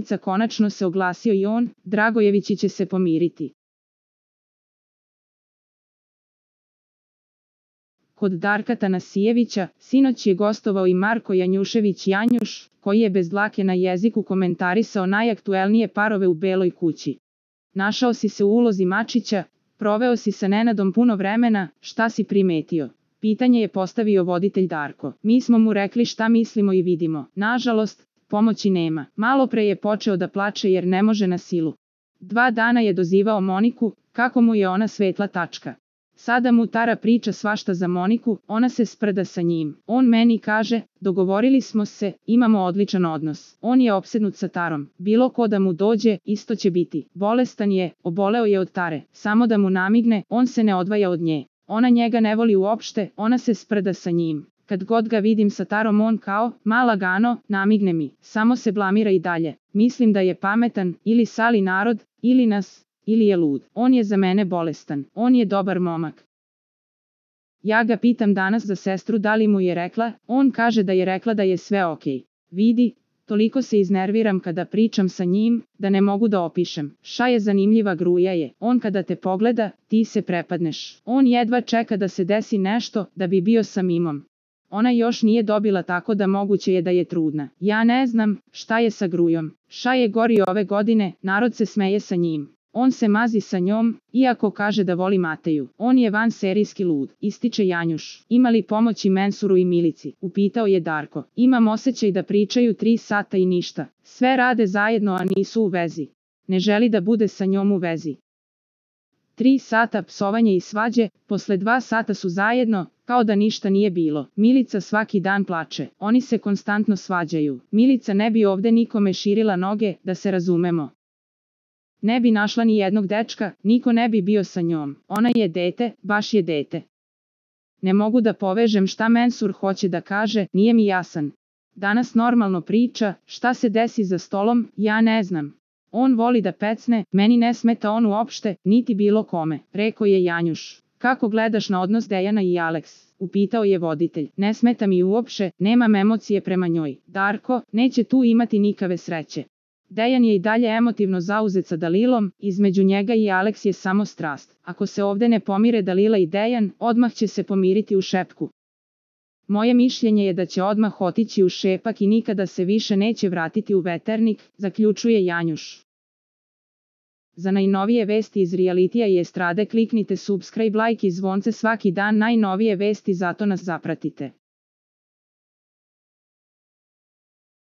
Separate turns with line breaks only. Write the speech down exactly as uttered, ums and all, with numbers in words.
Milica konačno se oglasio i on, Dragojevići će se pomiriti. Kod Darka Tanasijevića, sinoć je gostovao i Marko Janjušević Janjuš, koji je bez dlake na jeziku komentarisao najaktuelnije parove u Beloj kući. Našao si se u ulozi Mačića, proveo si sa Nenadom puno vremena, šta si primetio? Pitanje je postavio voditelj Darko. Mi smo mu rekli šta mislimo i vidimo. Nažalost, pomoći nema. Malo pre je počeo da plače jer ne može na silu. Dva dana je dozivao Moniku, kako mu je ona svetla tačka. Sada mu Tara priča svašta za Moniku, ona se sprda sa njim. On meni kaže, dogovorili smo se, imamo odličan odnos. On je opsednut sa Tarom. Bilo ko da mu dođe, isto će biti. Bolestan je, oboleo je od Tare. Samo da mu namigne, on se ne odvaja od nje. Ona njega ne voli uopšte, ona se sprda sa njim. Kad god ga vidim sa Tarom on kao, ma lagano, namigne mi. Samo se blamira i dalje. Mislim da je pametan, ili sali narod, ili nas, ili je lud. On je za mene bolestan. On je dobar momak. Ja ga pitam danas za sestru da li mu je rekla, on kaže da je rekla da je sve okej. Vidi, toliko se iznerviram kada pričam sa njim, da ne mogu da opišem. Ša je zanimljiva gruja je. On kada te pogleda, ti se prepadneš. On jedva čeka da se desi nešto, da bi bio sa Mimom. Ona još nije dobila tako da moguće je da je trudna. Ja ne znam, šta je sa grujom. Ša je gori ove godine, narod se smeje sa njim. On se mazi sa njom, iako kaže da voli Mateju. On je van serijski lud, ističe Janjuš. Ima li pomoći Mensuru i Milici? Upitao je Darko. Imam osjećaj da pričaju tri sata i ništa. Sve rade zajedno, a nisu u vezi. Ne želi da bude sa njom u vezi. Tri sata psovanje i svađe, posle dva sata su zajedno, kao da ništa nije bilo. Milica svaki dan plače. Oni se konstantno svađaju. Milica ne bi ovde nikome širila noge, da se razumemo. Ne bi našla ni jednog dečka, niko ne bi bio sa njom. Ona je dete, baš je dete. Ne mogu da povežem šta Mensur hoće da kaže, nije mi jasan. Danas normalno priča, šta se desi za stolom, ja ne znam. On voli da pecne, meni ne smeta on uopšte, niti bilo kome, rekao je Janjuš. Kako gledaš na odnos Dejana i Aleks? Upitao je voditelj. Ne smeta mi uopšte, nemam emocije prema njoj. Darko, neće tu imati nikave sreće. Dejan je i dalje emotivno zauzet sa Dalilom, između njega i Aleks je samo strast. Ako se ovde ne pomire Dalila i Dejan, odmah će se pomiriti u šepku. Moje mišljenje je da će odmah otići u šepak i nikada se više neće vratiti u Veternik, zaključuje Janjuš. Za najnovije vesti iz realitija i estrade kliknite subscribe, like i zvonce svaki dan, najnovije vesti, zato nas zapratite.